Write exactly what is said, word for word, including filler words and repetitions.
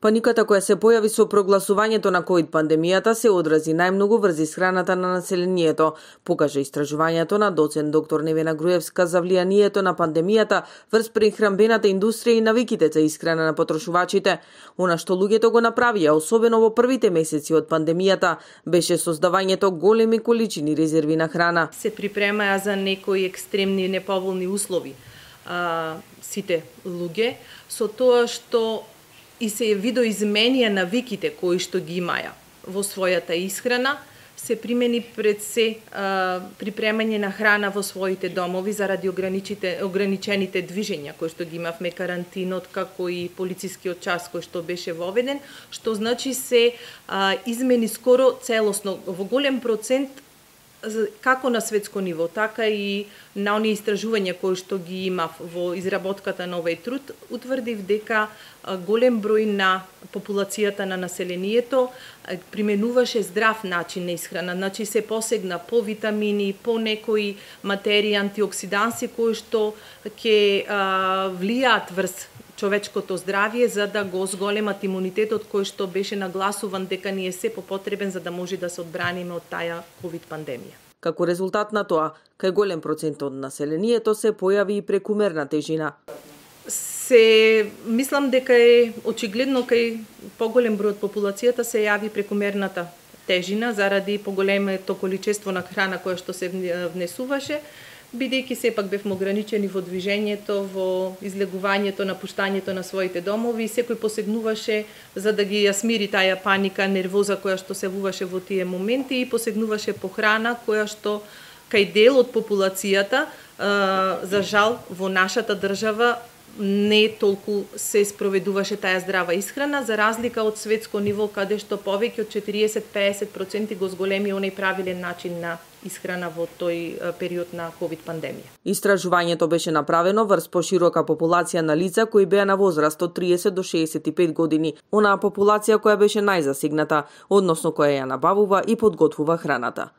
Паниката која се појави со прогласувањето на ковид пандемијата се одрази најмногу врз исхраната на населението, покажа истражувањето на доцент доктор Невена Груевска за влијанието на пандемијата врз прехранбената индустрија и навиките за исхрана на потрошувачите. Она што луѓето го направија, особено во првите месеци од пандемијата, беше создавањето големи количини резерви на храна. Се припремаја за некои екстремни неповолни услови а, сите луѓе, со тоа што и се видоизменија навиките кои што ги имаја во својата исхрана, се примени пред се а, припремање на храна во своите домови заради ограничените движења кои што ги имавме, карантинот, како и полицискиот час кој што беше воведен, што значи се а, измени скоро целосно во голем процент како на светско ниво, така и на оние истражувања кои што ги имав во изработката на овој труд, утврдив дека голем број на популацијата на населението применуваше здрав начин на исхрана, значи се посегна по витамини, по некои материи, антиоксиданси кои што ќе влијаат врз човечкото здравје за да го зголемат имунитетот кој што беше нагласуван дека ни е се попотребен за да може да се одбраниме од таа ковид пандемија. Како резултат на тоа, кај голем процент од населението се појави и прекумерна тежина. Се мислам дека е очигледно кај поголем број од популацијата се јави прекумерната тежина заради поголемото количество на храна која што се внесуваше, бидејќи сепак бевме ограничени во движењето, во излегувањето, напуштањето на своите домови, секој посегнуваше за да ги ја смири таа паника, нервоза која што се вуваше во тие моменти и посегнуваше по храна која што кај дел од популацијата, за жал, во нашата држава не толку се спроведуваше таа здрава исхрана, за разлика од светско ниво, каде што повеќе од четириесет до песет проценти го зголеми оној правилен начин на исхрана во тој период на ковид пандемија. Истражувањето беше направено врз поширока популација на лица кои беа на возраст од триесет до шеесет и пет години, онаа популација која беше најзасегната, односно која ја набавува и подготвува храната.